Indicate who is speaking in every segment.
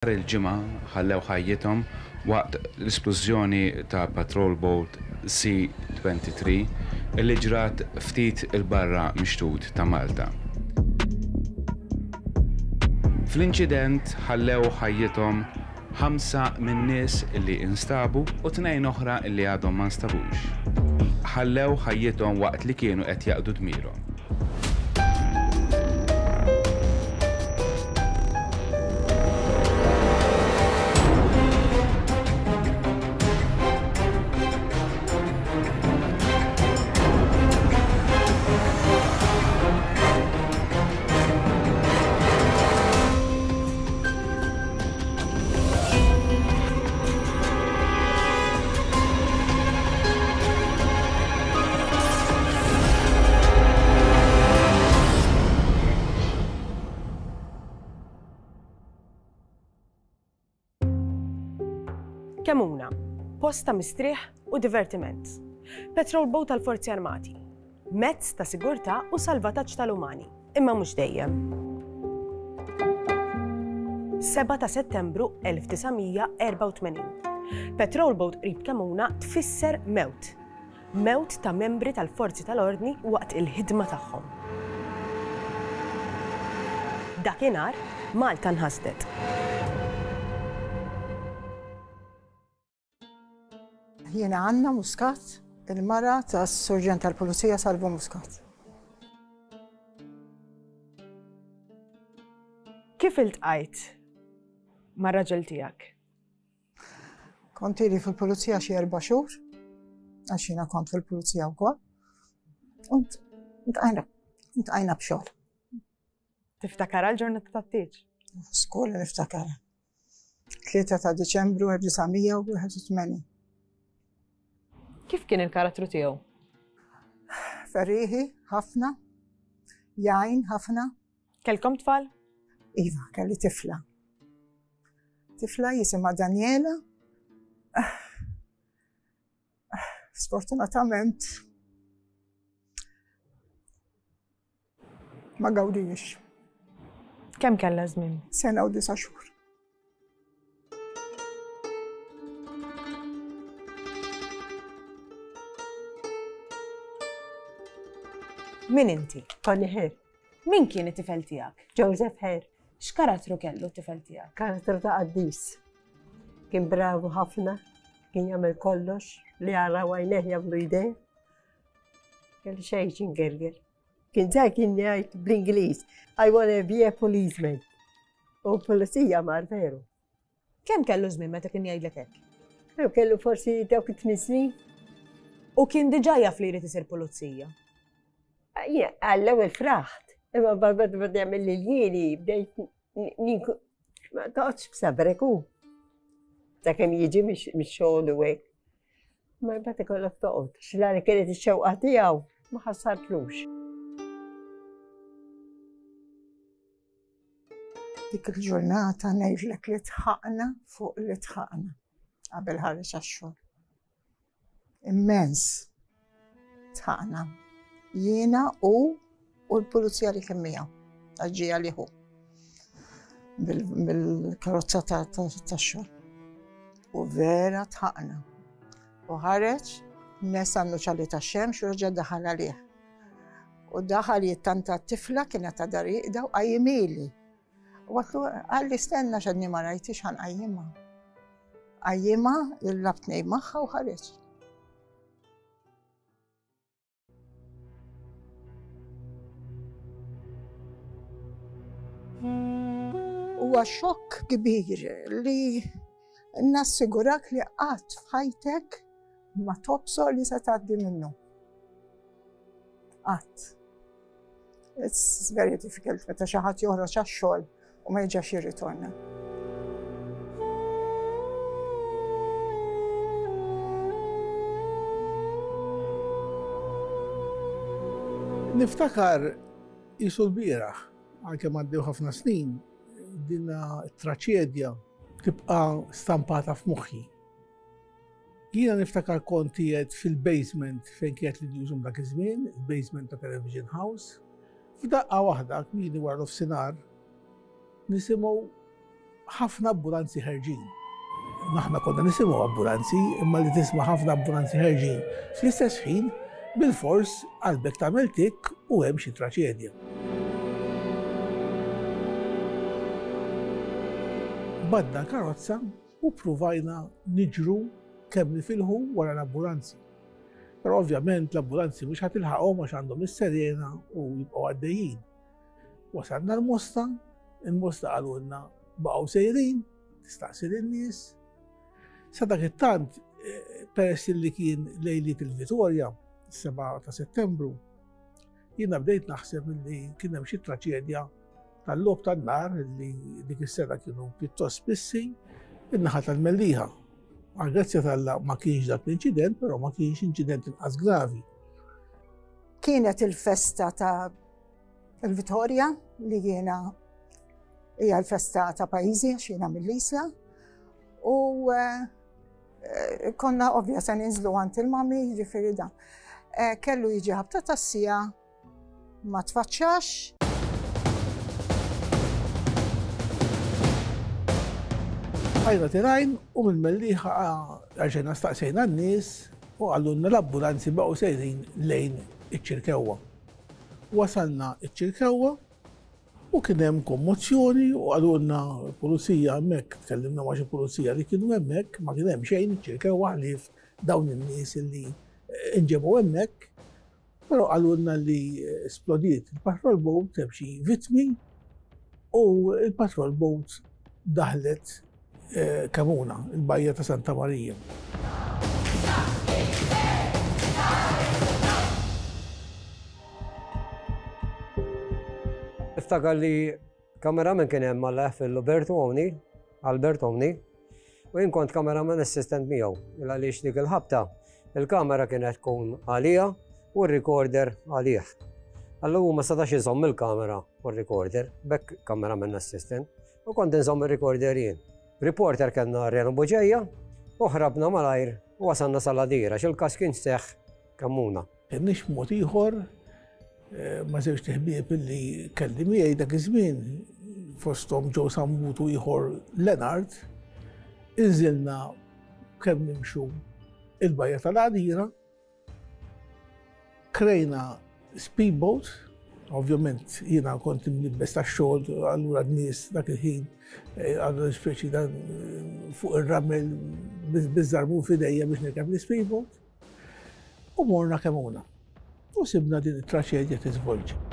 Speaker 1: Nhar il-Ġimgħa ħallew ħajjithom waqt l-isplużjoni ta' patrol boat Sea 23 li ġrat ftit 'il barra mix-xtut ta' Malta. Fl-inċident ħallew ħajjithom ħamsa min-nies li instabu u tnejn oħra li għadhom ma nstabux. Ħallew ħajjithom waqt li kienu qed jaqdu dmirhom.
Speaker 2: Kemuna, post ta' mistrieħ u divertiment. Petrol boat tal-Forzi Armati. Mezz ta' sigurtà u salvataġġ tal-umani, imma mhux dejjem. 7 ta' Settembru 1984. Petrol boat qrib Kemuna tfisser mewt. Mewt ta' membri tal-forzi tal-ordni waqt il-ħidma tagħhom. Dakinhar, Malta nħasdet.
Speaker 3: Jiena Anna Muscat, il-mara tas-Surġent tal-Pulizija Salvu Muscat.
Speaker 2: Kif iltqajt mar-raġel tiegħek?
Speaker 3: Kont ili fil-pulizija xi erba' xhur, għax jiena kont fil-pulizija wkoll. U ntqajna, ntqajna b'xogħol.
Speaker 2: Tiftakara l-ġurnata tat-tieġ?
Speaker 3: Skola niftakara. 3 ta' Diċembru 1981.
Speaker 2: Kif kien il-karattru tiegħu?
Speaker 3: Ferriħi ħafna, jgħin ħafna.
Speaker 2: Kellkom tfal?
Speaker 3: Iva, kelli tifla. Tifla jisimha Daniela. Sfortunatament ma gawdijiex.
Speaker 2: Kemm kellha żmien?
Speaker 3: Sena u disa' xhur.
Speaker 2: Min inti?
Speaker 4: Connie Hare.
Speaker 2: Min kien it-tifel tiegħek?
Speaker 4: Joseph Hare.
Speaker 2: X'karattru kellu t-tifel tiegħek?
Speaker 4: Karattru ta' qaddis. Kien bravu ħafna, kien jagħmel kollox li jara għajnejh jagħmlu jdejh. Kellu xejn x'ingerger. Kien żgħir kien jgħid bl-Ingliż, I wanna be a policeman. U pulizija mar veru.
Speaker 2: Kemm kellu żmien meta kien jgħidlek hekk?
Speaker 4: Jew kellu forsi dawk it-tmien snin.
Speaker 2: U kien diġà jaf li jrid isir pulizija?
Speaker 4: Għall-ewwel fraħt, imma mbagħad beda jagħmel lil jieni bdejt ninku ma toqgħodx b'sabrek hu. Sakemm jiġi mix-xogħol u hekk. Ma mbagħad ikollok toqgħod. X'la li kienet ix-xewqa tiegħu ma ħassartlux.
Speaker 3: Dik il-ġurnata ngħidlek li tħaqna fuq li tħaqna qabel ħareġ għax-xogħol. Immens tħaqna. Jiena u u l-pulizija li kien miegħu, għax ġie hu bil-karozza tax-xogħol. U vera tħaqna. U ħareġ, nesa n-nuċali tax-xemx u reġa' daħal għalih. U daħal jittanta t-tifla kienet għadha rieqda u qajjimili. U għatlu għalli stenna xadni ma rajtix ħan qajjimha. Qajjimha, il-lab tnej magħha u ħareġ. Huwa xokk kbir li nassigurak li qatt f'ħajtek ma tobsor li se tgħaddi minnu. Qatt. It's very difficult meta xi ħadd joħroġ għax-xogħol u ma jerġax jirritorna.
Speaker 5: Niftakar jisu l-bieraħ, anke għaddew ħafna snin, dinna traċedja tibqa' stampata f'moħħi. Jiena niftakar kont qiegħed fil-basement fejn kienet l-newsroom dak iż-żmien, il-basement ta' Television House. F'daqqa waħda, kmieni wara nofsinhar, nisimgħu ħafna ambulanzi ħerġin. Aħna konna nisimgħu ambulanzi, imma li tisma' ħafna ambulanzi ħerġin fl-istess ħin, bilfors qalbek tagħmel tikk u hemm xi traċedja. Badna l-karozza u ppruvajna niġru kemm nifilħu wara l-ambulanzi. Però ovvjament l-ambulanzi mhux ħa tilħaqhom għax għandhom is-serena u jibqgħu għaddejjin. Wasalna l-Mosta, il-Mosta qalulna baqgħu sejrin, tistaqsi lin-nies. Sa dak it-tant, eh, peress li kien lejliet il-Vitorja, 7 ta' Settembru, jiena bdejt naħseb li kien hemm xi traċedja tal-logħob tan-nar li dik is-sena kienu pjuttost spissi in-naħa tal-Mellieħa. Għal grazzja t'Alla ma kienx dak l-inċident, però ma kienx inċident inqas gravi.
Speaker 3: Kienet il-festa ta' il-Vitorja li jiena hija l-festa ta' pajjiżi għax jiena mill-Isla u eh, konna ovvja se ninżlu għand il-mami, ġifieri dan. Eh, kellu jiġi ħabta tas-sija ma tfaċċax.
Speaker 5: Bqajna tilgħin u mill-Mellieħa rġajna staqsejna n-nies u qalulna l-ambulanzi baqgħu sejrin lejn iċ-Ċirkewwa. Wasalna ċ-Ċirkewwa u kien hemm kommozzjoni u qalulna l-pulizija hemmhekk, tkellimna ma' xi pulizija li kienu hemmhekk, ma kien hemm xejn iċ-Ċirkewwa ħlief dawn in-nies li nġebu hemmhekk. Però qalulna li splodiet il-patrol boat hemm xi vittmi u il-patrol boat daħlet eh, Kamuna, il-bajja ta' Santa Marija.
Speaker 6: Niftakar li Cameraman kien hemm Alla jaħfirlu Bertu O'Neill, Albert O'Neill, u jien kont cameraman assistant miegħu, il għaliex dik il-ħabta il-kamera kienet tkun għalija u r-recorder għalih. Allura hu ma setax iżomm il-kamera u r-recorder, b'hekk cameraman assistant, u kont inżomm ir-recorder jien. Reporter kellna Reno Buġeja u ħrabna malajr u wasalna sal-Għadira għax il-każ kien seħħ Kemmuna.
Speaker 5: Kenniex mod ieħor eh, ma' żewġt iħbieb illi kelli miegħi dak iż-żmien fosthom Joe Sammut u ieħor Leonard, inżilna kemm nimxu il-bajja tal-Għadira, krejna speedboat, ovvjament jiena kont imlibbes tax-xogħol, allura n-nies dak il-ħin eh, għandu speċi dan eh, fuq ir-ramel biż-żarbun f'idejja biex nirkeb l-speedboat. U morna Kemuna. U sibna din it-traċedja tiżvolġi.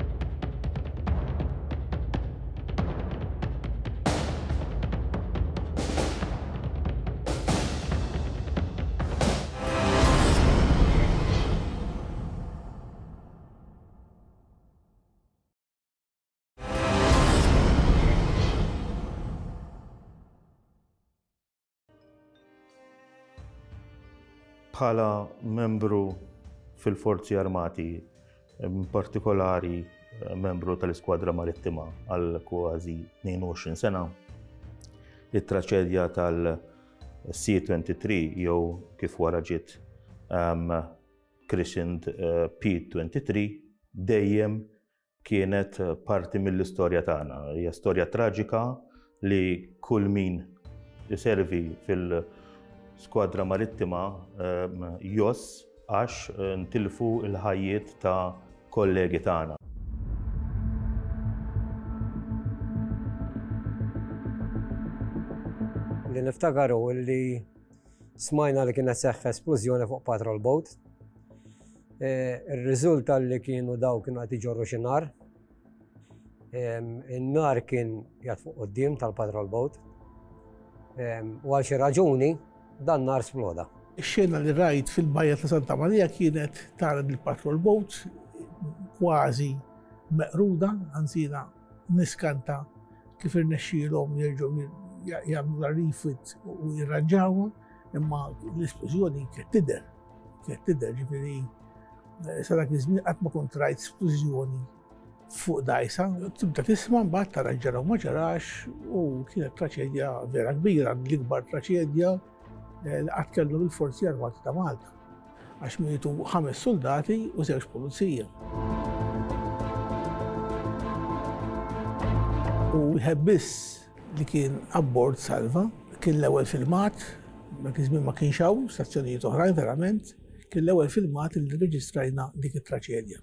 Speaker 7: Bħala membru fil-Forzi Armati, in partikolari eh, membru tal-Iskwadra Marittima għal kważi 22 sena, it-traċedja tal-C-23 jew kif wara ġiet um, christened eh, P-23 dejjem kienet parti mill-istorja tagħna. Hija storja traġika li kull min iservi fil-skwadra marittima ehm, joss għax eh, ntilfu l-ħajjiet ta' kollegi tagħna.
Speaker 6: Li niftakar hu li smajna li kienet seħħ esplużjoni fuq patrol boat Eh, ir-riżulta li kienu daw kienu qed iġorru xi nar. In-nar kien jgħat fuq quddiem tal-patrol boat. U għal xi raġuni dan nar sploda.
Speaker 5: Ix-xena li rajt fil-bajja ta' Santa Marija kienet tara il-patrol boat kważi meqruda, anzi niskanta kif irnexxielhom jerġgħu jagħmlu la refit u jirranġawha, imma l-isplużjoni kienet tidher. Kienet tidher ġifieri eh, sa dak iż-żmien qatt ma kont rajt splużjoni fuq dajsa. Tibda tisma' mbagħad tara ġara u ma ġarax u kienet traċedja vera kbira, l-ikbar traċedja eh, li qatt kellhom il-Forzi Armati ta' Malta. Għax mietu ħames soldati u żewġ pulizija. U wieħed biss. li kien abbord salva. Kien l-ewwel filmat, dak iż-żmien ma kienx hawn stazzjonijiet oħrajn verament, kien l-ewwel filmat li rreġistrajna dik it-traċedja.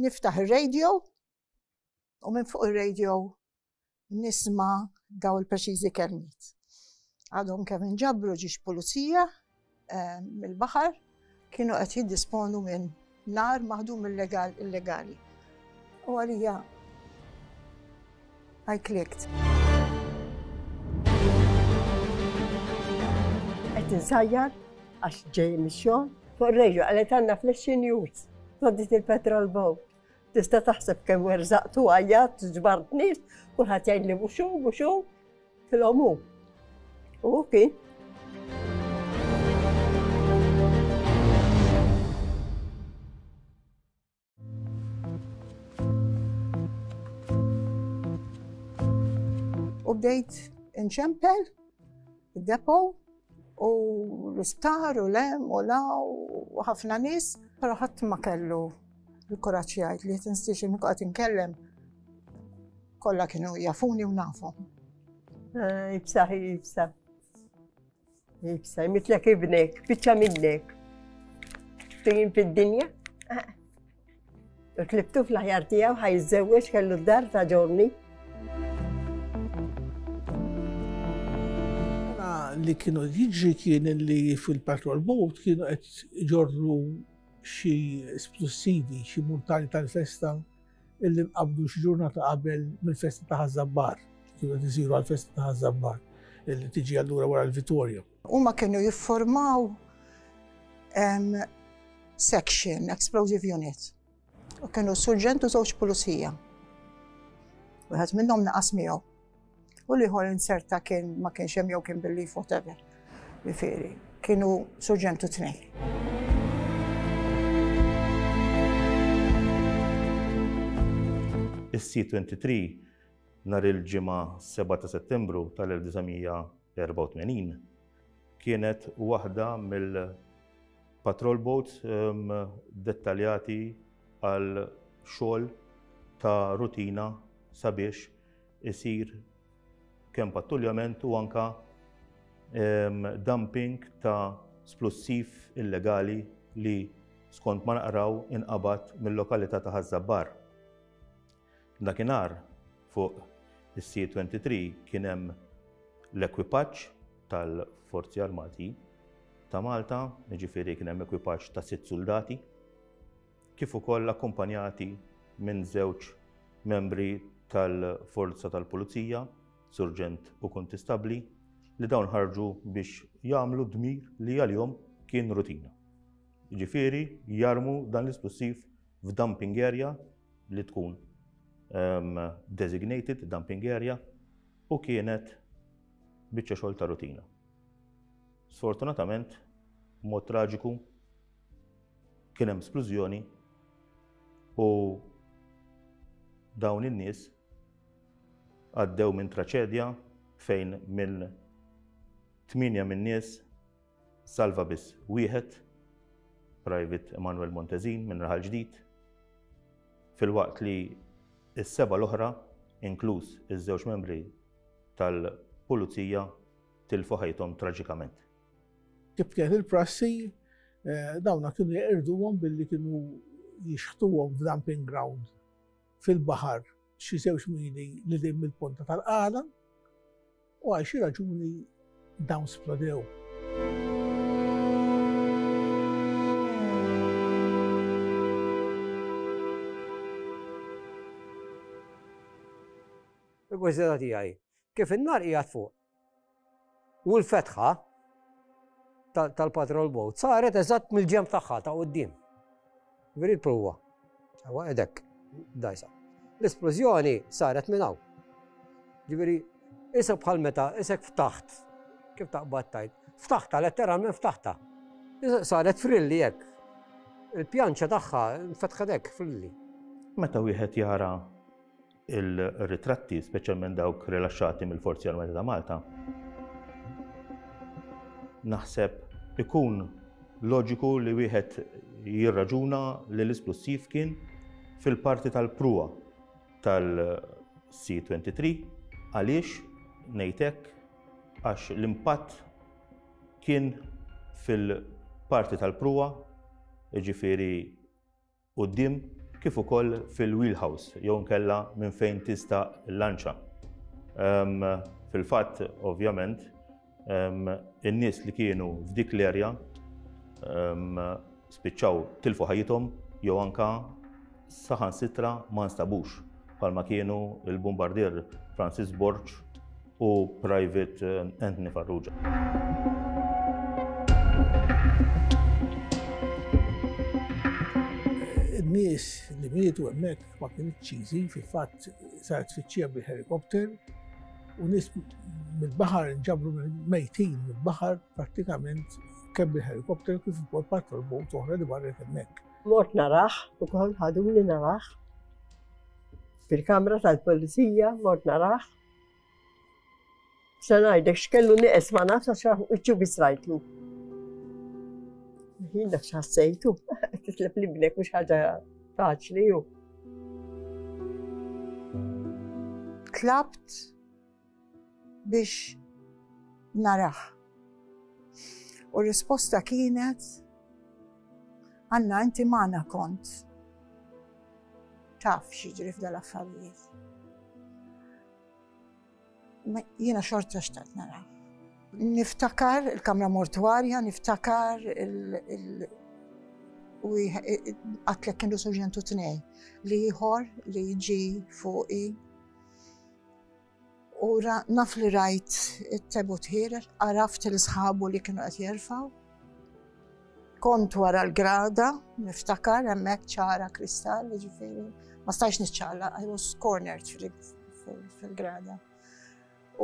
Speaker 3: Niftaħ ir-radio u minn fuq ir-radio nisma' daw il-preċiżi kelmiet. Għadhom kemm inġabru ġiex pulizija eh, mill-baħar kienu qed jiddisponu minn nar maħdum illegal illegali. U għalija I clicked.
Speaker 4: Qed insajjar għax ġej mix-xogħol fuq ir-radio qalet għandna flash news. Toddit il-petrol boat. Tista' taħseb kemm werżaqtu għajjat, ġbart nies, kulħadd jgħidli mhux hu, mhux hu. Tilhom hu. U kien.
Speaker 3: U bdejt inċempel id-depo u l-isptar u lem u la u ħafna nies, però ħadd ma kellu l-kuraġġ jgħid li tinstix inqgħod inkellem Kollha kienu jafuni u nafhom.
Speaker 4: Eh, ibsa, ibsa. Ibsa, mitlek ibnek, biċċa minnek. Tejn fid-dinja. Eh. U tlibtu fl-aħjar tiegħu ħaj jiżżewweġ kellu d-dar ta' ġorni.
Speaker 5: Li kienu jiġri kien li fil-patrol boat kienu qed iġorru xi splussivi, xi muntani tal-festa illi nqabdu xi ġurnata qabel mill-festa ta' Ħaż-Żabbar, kienu qed isiru għall-festa ta' Ħaż-Żabbar, illi tiġi allura wara l-Vitorja.
Speaker 3: Huma kienu jiffurmaw section, explosive unit. U kienu surġent u żewġ pulizija. Wieħed minnhom naqas miegħu. U l-ieħor inserta kien ma kienx hemm jew kien bil-leave whatever. Jifieri, kienu surġentu tnejn.
Speaker 7: Is-C-23 nhar il-Ġimgħa 7 ta' Settembru tal-1984 kienet waħda mill-patrol boats ehm, dettaljati għal xogħol ta' rutina sabiex isir kemm pattuljament u anka ehm, dumping ta' splussiv illegali li skont ma naqraw inqabad mill-lokalità ta' Ħaż-Żabbar. Dakinhar fuq is-C-23 kien hemm l-ekwipaġġ tal-Forzi Armati ta' Malta, jiġifieri kien hemm ekwipaġġ ta' sitt suldati, kif ukoll akkumpanjati minn żewġ membri tal-Forza tal-Pulizija, Surġent u Kuntistabbli, li dawn ħarġu biex jagħmlu dmir li għalihom kien rutina. Jiġifieri jarmu dan l-isplussiv f'dumping area li tkun um, designated dumping area u kienet biċċa xogħol ta' rutina. Sfortunatament, mod traġiku, Kien hemm splużjoni u dawn in-nies għaddew minn traċedja fejn minn tmienja minn nies salva biss wieħed, Private Emanuel Montezin minn Raħal Ġdid, filwaqt li s-seba' l-oħra, inkluż iż-żewġ membri tal-Pulizija, tilfu ħajjithom traġikament.
Speaker 5: Kif kienet il-prassi, eh, dawna kienu jeqirduhom billi kienu jixħtuhom f'dumping ground fil-baħar xi żewġ mili li din mill-ponta tal-qala u għal xi raġuni dawn splodew.
Speaker 6: Il-kurżità tiegħi, kif in-nar qiegħed fuq U l-fetħa tal-patrol boat saret eżatt mill-ġemb tagħha ta' quddiem. Veri l-pruwa. Ewa edek, dajsa. L-esplużjoni saret minn hawn. Ġifieri, isa bħal meta isek ftaħt, kif taqbad tajt, ftaħta, letteralment ftaħta. Saret frilli hekk. Il-pjanċa tagħha nfetħet hekk frilli.
Speaker 7: Meta wieħed jara il-ritratti, speċjalment dawk rilaxxati mill-Forzi Armati ta' Malta, naħseb ikun loġiku li wieħed jirraġuna li l-isplussiv kien fil-parti tal-pruwa tal-C-23 għaliex ngħid hekk għax l-impatt kien fil-parti tal-pruwa, jiġifieri quddiem kif ukoll fil-wheelhouse jew inkella minn fejn tista' l-lanċa. Fil-fatt, ovvjament, in-nies li kienu f'dik l-erja spiċċaw tilfu ħajjithom jew anka saħansitra ma nstabux bħalma kienu il-bombardier Francis Borg u Private Anthony Farrugia.
Speaker 5: In-nies li mietu hemmhekk ma kinitx easy, fil-fatt saret tfittxija bil-helikopter u nies mill-baħar nġabru mejtin mill-baħar prattikament kemm bil-helikopter kif ukoll patrol boat oħra li marret hemmhekk.
Speaker 4: Mort narah ukoll ħaduni narah fil-kamra tal-pulizija mort narah. Se ngħidlek x'kellu nieqes ma nafx għax wiċċu biss rajtlu. Jien naf x'ħassejtu, titlef li ibnek mhux ħaġa faċli hu.
Speaker 3: Tlabt biex narah. U r-risposta kienet Anna inti magħna kont taf x'jiġri f'dal-affarijiet. Jiena xorta xtaqt nara. Niftakar il-kamra mortwarja, niftakar il- u għatlek kienu soġentu tnej li ieħor li jiġi fuqi U naf li rajt it-tebut ħiereġ, għaraft il-sħabu li kienu qed jerfgħu. Kont wara l-grada, niftakar hemmhekk ċara kristall, jiġifieri ma stajx niċċaqlaq, I was cornered fil-grada.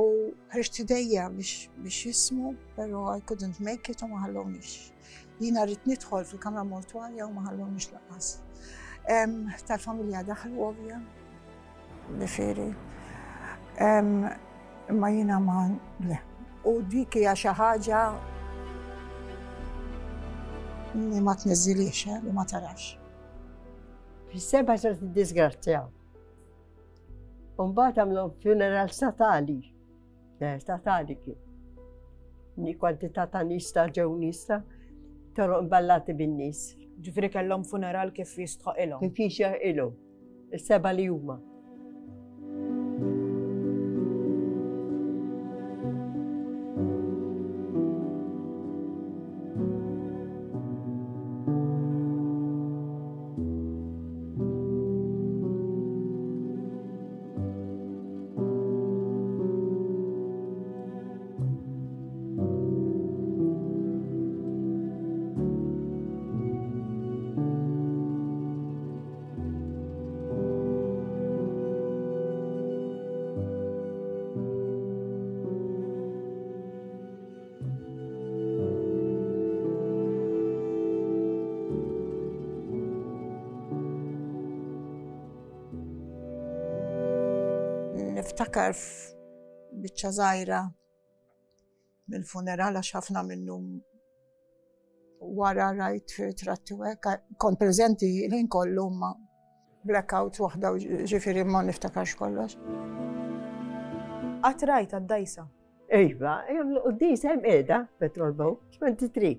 Speaker 3: U ħriġt idejja biex jismu, pero I couldn't make it u ma ħallonix. Jiena rrid nidħol fil-kamra mortwarja u ma ħallonix lanqas. Tal-familja daħlu ovvja, Ġifieri. Imma jiena ma le. U dik hija xi ħaġa li ma tniżżilix, eh, li ma tarax.
Speaker 4: Fis-seba saret id-disgrazzja. U mbagħad għamlu funeral statali. Eh, statali kien. Ni kwantità ta' nies ta' ġew nies ta' toroq imballati bin-nies.
Speaker 2: Ġifieri kellhom funeral kif jistħoqilhom.
Speaker 4: Kif jixraqilhom. Is-seba' li huma.
Speaker 3: Niftakar f'biċċa żgħira mill-funeral għax ħafna minnu wara rajt ritratti u hekk, kont preżenti l-ħin kollu ma blackout waħda ġifieri ma niftakarx kollox.
Speaker 2: Qatt rajt għad-dajsa?
Speaker 4: Iva, jagħmlu quddiesa hemm qiegħda Petrol Boat 23.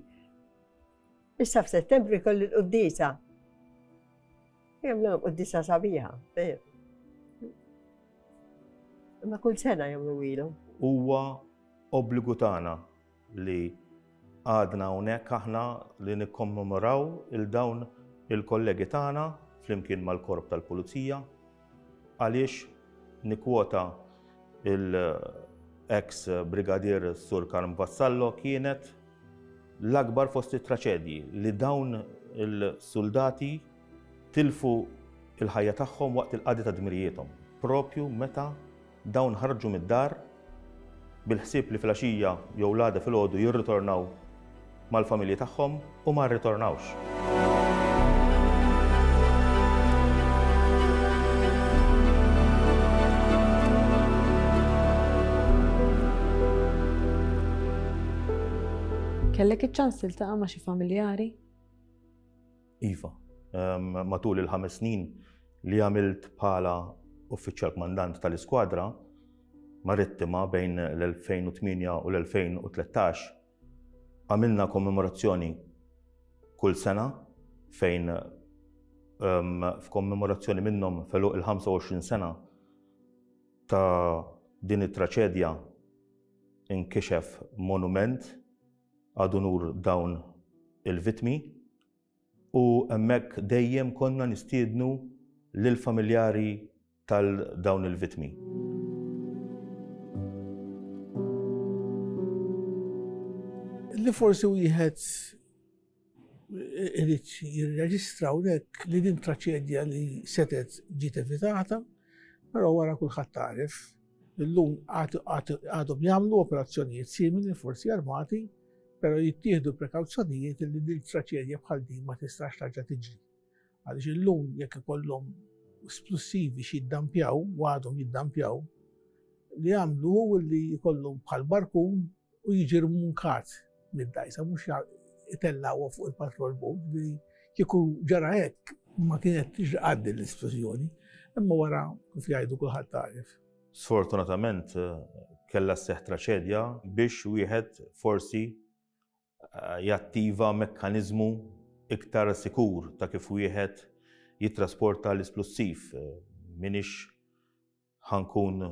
Speaker 4: Issa f'Settembru jkolli l-quddiesa. Jagħmlu quddiesa sabiħa. Imma kull sena jagħmlu ilu.
Speaker 7: Huwa obbligu tagħna li għadna hawnhekk aħna li nikkommemoraw il dawn il-kollegi tagħna flimkien mal-Korp tal-Pulizija għaliex nikkwota il-ex Brigadier Sur Karm Vassallo kienet l-akbar fost it-traċedji li dawn il-suldati tilfu il-ħajja tagħhom waqt il-qadi ta' dmirijiethom, propju meta Dawn ħarġu mid-dar bil-ħsieb li filgħaxija jew l-għada filgħodu jirritornaw mal-familji tagħhom u ma rritornawx.
Speaker 8: Kellek iċ-ċans tiltaqa' ma' xi familjari?
Speaker 7: Iva. Matul il-ħames snin li għamilt bħala uffiċjal kmandant tal-iskwadra marittima bejn l-2008 u l-2013, għamilna kommemorazzjoni kull sena fejn f'kommemorazzjoni minnhom f'għeluq il-25 sena ta' din it-traċedja inkixef monument ad unur dawn il-vittmi u hemmhekk dejjem konna nistiednu lill-familjari tal dawn il-vittmi.
Speaker 5: Li forsi wieħed irid jirreġistra hawnhekk li din traċedja li setgħet ġiet evitata, però wara kulħadd għaref. Illum għadhom jagħmlu operazzjonijiet simili l-Forzi Armati, però jittieħdu prekawzjonijiet li din traċedja bħal din ma tistax tarġa' tiġri. Għaliex illum jekk ikollhom splussivi xi jiddampjaw, u għadhom jiddampjaw, li jagħmlu hu li jkollhom bħal barkun u jiġi rmunkat mid-dgħajsa, mhux itellgħuha fuq il-patrol boat, ġifieri kieku ġara hekk ma kienet tiġri qatt din l-isplużjoni, imma wara kif jgħidu kulħadd għaref.
Speaker 7: Sfortunatament kellha sseħħ traċedja biex wieħed forsi jattiva mekkaniżmu iktar sikur ta' kif wieħed jittrasporta l-isplussiv. M'iniex ħa nkun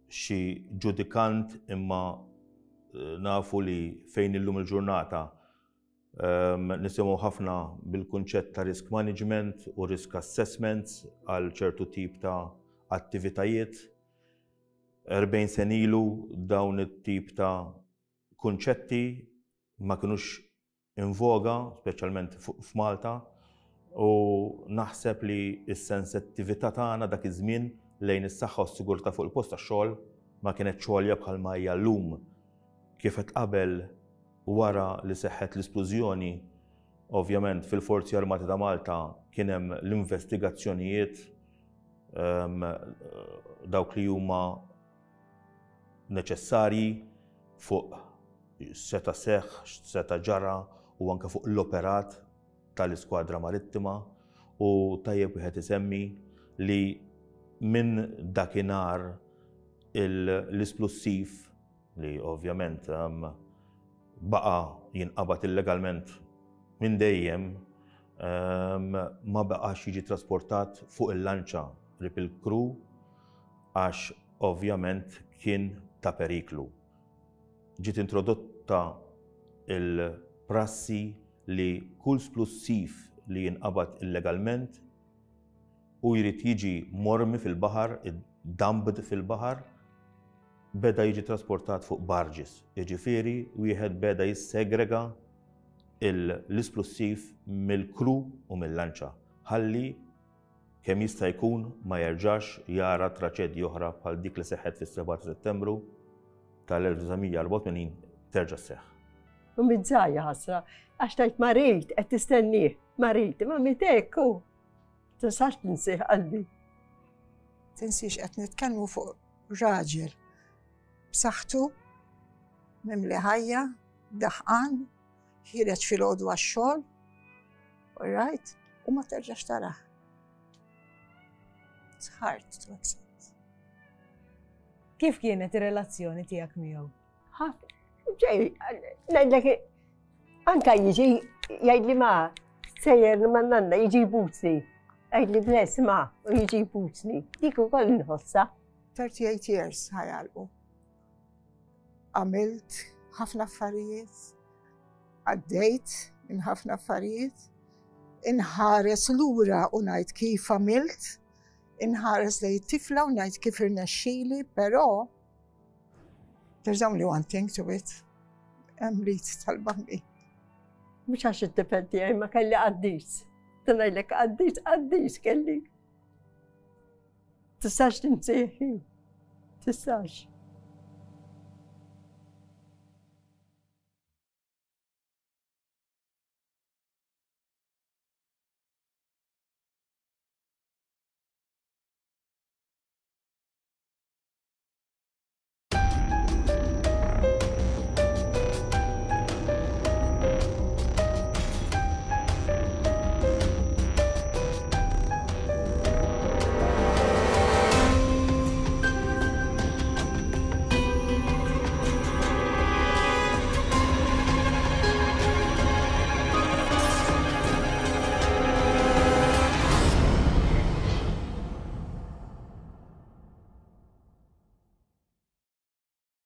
Speaker 7: xi ġudikant imma nafu li fejn illum il-ġurnata nisimgħu ħafna bil-kunċett ta' risk management u risk assessments għal ċertu tip ta' attivitajiet. 40 sen ilu dawn it-tip ta' kunċetti ma kinux in voga, speċjalment f'Malta, u naħseb li s-sensittività tagħna dak iż-żmien lejn is-saħħa u s-sigurtà fuq il-post tax-xogħol ma kinetx għolja bħalma hija llum. Kif għedt qabel, wara li seħħet l-isplużjoni, ovvjament fil-Forzi Armati ta' Malta kien hemm l-investigazzjonijiet ehm, dawk li huma neċessarji fuq x'seta' seħħ, x'seta' ġara u anke fuq l-operat tal-Iskwadra Marittima u tajjeb wieħed isemmi li minn dakinhar l-isplussiv li ovvjament ehm, baqa' jinqabad illegalment minn dejjem ehm, ma baqax jiġi trasportat fuq il-lanċa qrib il-kru għax ovvjament kien ta' periklu. Ġiet introdotta l-prassi li kull splussiv li jinqabad illegalment u jrid jiġi mormi fil-baħar, dumped fil-baħar, beda jiġi trasportat fuq barges. Jiġifieri wieħed beda jissegrega l-isplussiv mill-kru u mill-lanċa ħalli kemm jista' jkun ma jerġax jara traċedji oħra bħal dik li seħħet fis-7 ta' Settembru tal-1984 terġa' sseħħ.
Speaker 4: U mizzajja ħasra, għax tajt marit, qed tistennih, marit, ma mitek u tistax tinsih qalbi.
Speaker 3: Tinsiex qed nitkellmu fuq raġel b'saħħtu, mimli ħajja, daħqan, ħireġ filgħodu għax-xogħol, all right, u ma terġax tarah. It's hard to accept.
Speaker 8: Kif kienet ir-relazzjoni tiegħek miegħu?
Speaker 4: Ġej, ngħidlek anka jiġi jgħidli ma sejjer ma nanna jiġi jbusni. Għidli bless ma u jiġi jbusni. Dik ukoll nħossha.
Speaker 3: 38 years ħajalqu. Għamilt ħafna affarijiet, għaddejt minn ħafna affarijiet, inħares lura u ngħid kif għamilt, inħares lejn tifla u ngħid kif irnexxili, però there's only one thing to it. Hemm lit tal-bambi.
Speaker 4: Mhux għax it-tifel tiegħi ma kelli qaddis. Tnajlek qaddis, qaddis kelli. Tistax tinsieħi. Tistax.